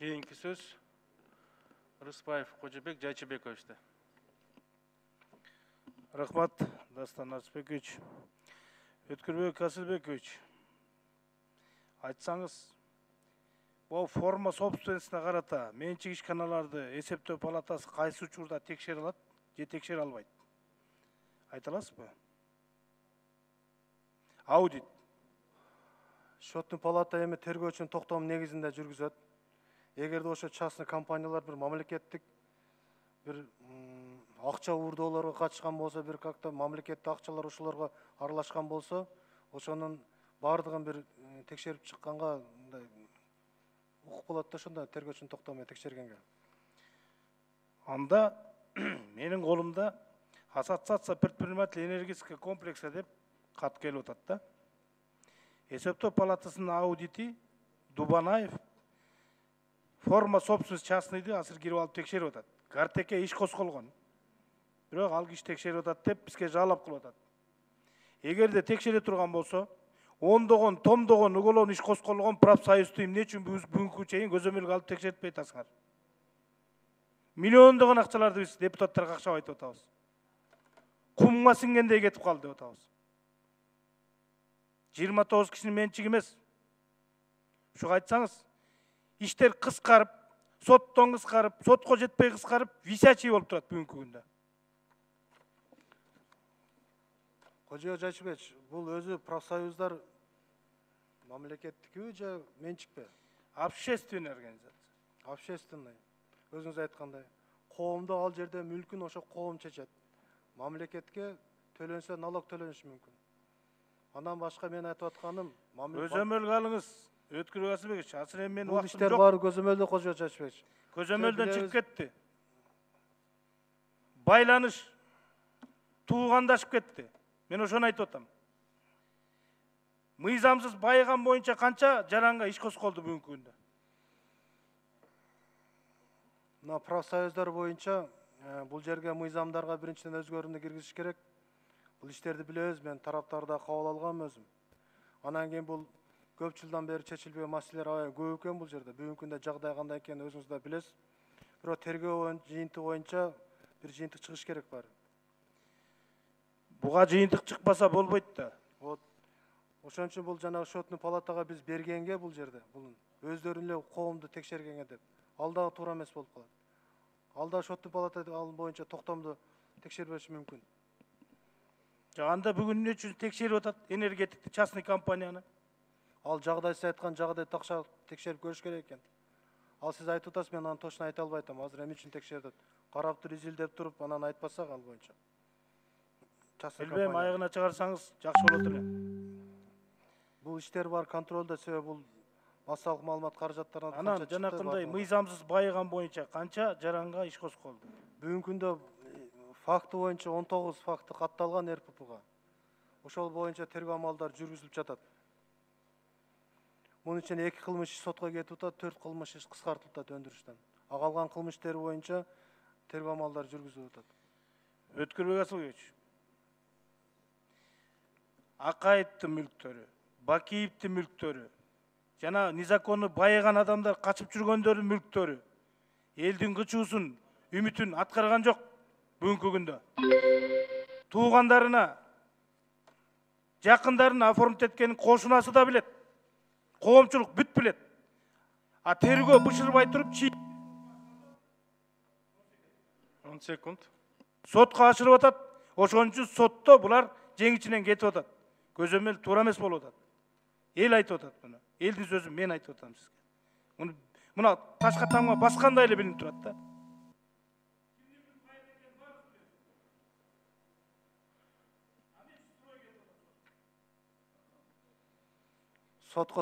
Keyinki söz Rısbaev Kocabek Jayчыбековичте. Рахмат, Дастан Арсбекович. Өткүрбек Асылбекович, айтсаңыз, бұл форма собственностьна карата менчик ишканаларды эсептөө палатасы кайсы учурда текшере алат же текшере албайт? Айта аласызбы? Аудит. Счеттун палата эми тергөөчүнүн токтому негизинде жүргүзөт. Эгерде ошо частный компаниялар бир мамлекеттик бир акча уурдоолорго катышкан болсо, бир как-то мамлекеттик акчалар ошолорго аралашкан болсо, ошонун баардыгын бир текшерип чыкканга мындай укук болот да, ошондо тергөөчүнүн токтому менен текшергенге. Анда менин колумда ассоциация предпринимателей энергетического комплекса деп кат келип атат да. Эсептөө палатасынын аудити Дубанаев форма собственность частныйды азыр кирип алып текшерип атат. Картеке иш козголгон. Бирок ал киши текшерип атат деп бизге жалап кылып атат. Эгерде текшере турган болсо, ондогон, томдогон уголовный иш козголгон профсоюзду эмне үчүн бүгүнкү чейин көзөмөлгө алып текшертпей атасыңар? Миллиондогон акчаларды биз депутаттарга акчап айтып атабыз. Кумга сиңгендей кетип калды деп атабыз. 29 кишинин менчиги эмес. Ушуга айтсаңыз, иштер кыскарып, соттон кыскарып, сотко жетпей кыскарып, висячий болуп турат бүгүнкү күндө. Кожо Жайчыбекович, бул өзү профсоюздар мамлекеттикпи же менчикпи? Общественный организация. Общественный. Өзүңүз айткандай, коомдо ал жерде мүлкүн ошо коом чечет. Мамлекетке төлөнсө налог төлөнүшү мүмкүн. Андан башка мен айтып атканым, көзөмөлгө алыңыз. Өткүрбек Асылбекович, азыр эми менин бул убактым иштер жок. баары көзөмөлдө, Кожо Жайчыбекович. Көзөмөлдөн чыгып кетти. Байланыш туугандашып кетти. Мен ошону айтып атам. Мыйзамсыз байыган боюнча канча жаранга иш козголду бүгүнкү күндө? Мына профсоюздар боюнча бул жерге мыйзамдарга биринчиден өзгөрүүнү киргизиш керек. Бул иштерди билебиз, мен тараптарда кабыл алгам өзүм. Анан кийин бул көп жылдан бери чечилбеген маселелер аябай көп экен бул жерде. Бүгүнкү күндө жагдай кандай экенин өзүңүз да билесиз. Бирок тергөө жыйынты боюнча бир жыйынтык чыгыш керек баары. Буга жыйынтык чыкпаса болбойт да. Вот. Ошон үчүн бул жанагы счеттун палатага биз бергенге бул жерде, бул өздөрүнүн эле коомду текшергенге деп. Ал дагы туура эмес болуп калат. Ал да счеттун палата ал боюнча токтомду текшербеши мүмкүн. Анда бүгүн эмне үчүн текшерип атат энергетикти частный компанияны? Ал жагдай сиз айткан жагдай такшап текшерип көрүш керек экен. Ал сиз айтып атасыз, мен аны точно айта албай атам. Азыр эмне үчүн текшерди? Карап туруп изилдеп туруп, анан айтпасак ал боюнча. Билбейм, айыгына чыгарсаңыз жакшы болот эле. Бул иштер бар контролдо, себеби бул массалык маалымат каражаттарынан канча Анан жанакындай мыйзамсыз байыган боюнча канча жаранга иш козголду? Бүгүнкү күндө факты боюнча 19 факты катталган РППга. Ошол боюнча тергөө амалдары жүргүзүлүп жатат. Мунун ичинде 2 кылмыш иш сотко кетип атат, 4 кылмыш иш кыскартылып атат өндүрүштөн. А калган кылмыш иштери боюнча тергөө амалдары жүргүзүлүп атат. Өткүрбек Асылбекович, Акаевдин мүлктөрү, Бакиевдин мүлктөрү, жана незаконно байыган адамдар качып жүргөндөрдүн мүлктөрү элдин кычуусун, үмүтүн аткарган жок бүгүнкү күндө. Туугандарына, жакындарына оформить эткенин кошунасы да билет. Коомчулук бүт билет. А тергөө бышырбай туруп 10 секунд. сотко ашырып атат. Ошон үчүн сотто булар жеңичинен кетип атат. Көзөмөл туура эмес болуп атат. Эл айтып атат муну. Элдин сөзүн мен айтып атам сизге. Муна ташка тамга баскандай эле билинип турат да. Сотко